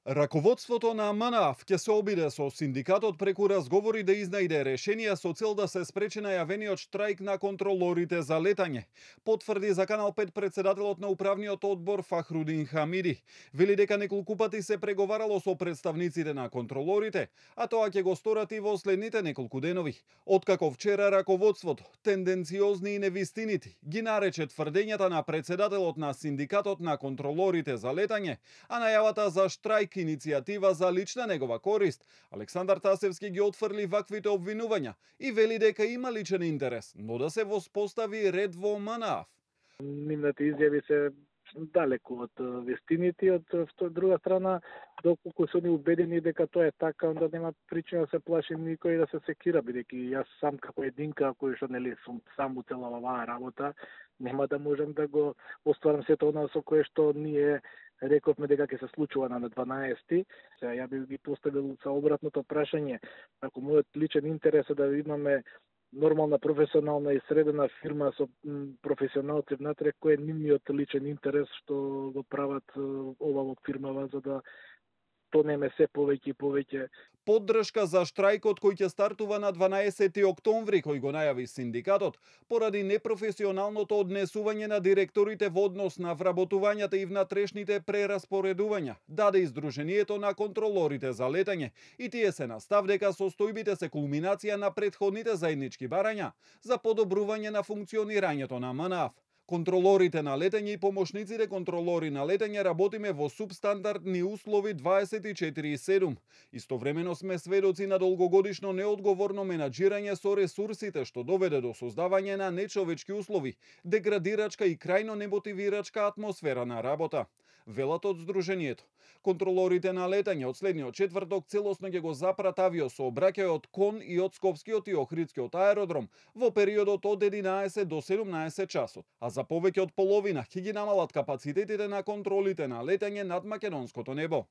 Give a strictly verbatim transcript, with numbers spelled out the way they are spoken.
Раководството на МНАФ ќе се обиде со синдикатот преку разговори да изнајде решенија со цел да се спречи најавениот штрајк на контролорите за летање. Потврди за Канал пет председателот на управниот одбор Фахрудин Хамиди. Вели дека неколку пати се преговарало со представниците на контролорите, а тоа ќе го сторат и во следните неколку денови. Откако вчера раководството, тенденциозни и невистинити, ги нарече тврдењата на председателот на синдикатот на контролорите за летање, а најавата за штрајк иницијатива за лична негова корист, Александар Тасевски ги отфрли ваквите обвинувања и вели дека има личен интерес, но да се воспостави ред во МНАФ. Нивните изјави се далеку од вестините, од друга страна, доколку се они убедени дека тоа е така, онда нема причина да се плаши никој да се секира, бидејќи јас сам како единка, кој што нели сум сам у целава оваа работа, нема да можам да го остварам сето она со кое што ние рековме дека ќе се случува на дванаесети. Сега ја би ги поставил со обратното прашање, ако мојот личен интерес е да имаме нормална професионална и средена фирма со професионалци внатре, кој е нивниот личен интерес што го прават ова во фирмава за да тонеме се повеќе и повеќе. Поддршка за штрајкот кој ќе стартува на дванаесети октомври, кој го најави синдикатот, поради непрофесионалното однесување на директорите во однос на вработувањата и внатрешните прераспоредувања, даде издруженијето на контролорите за летање, и тие се настав дека состојбите се кулминација на претходните заеднички барања за подобрување на функционирањето на МНАФ. Контролорите на летање и помошниците контролори на летање работиме во субстандардни услови дваесет и четири седум. Истовремено сме сведоци на долгогодишно неодговорно менаџирање со ресурсите, што доведе до создавање на нечовечки услови, деградирачка и крајно немотивирачка атмосфера на работа. Велат од здруженијето. Контролорите на летање од следниот четврток целосно ќе го запрат авиосообраќајот од Кон и од Скопскиот и Охридскиот аеродром во периодот од единаесет до седумнаесет часот, а за повеќе од половина ќе ги намалат капацитетите на контролите на летање над македонското небо.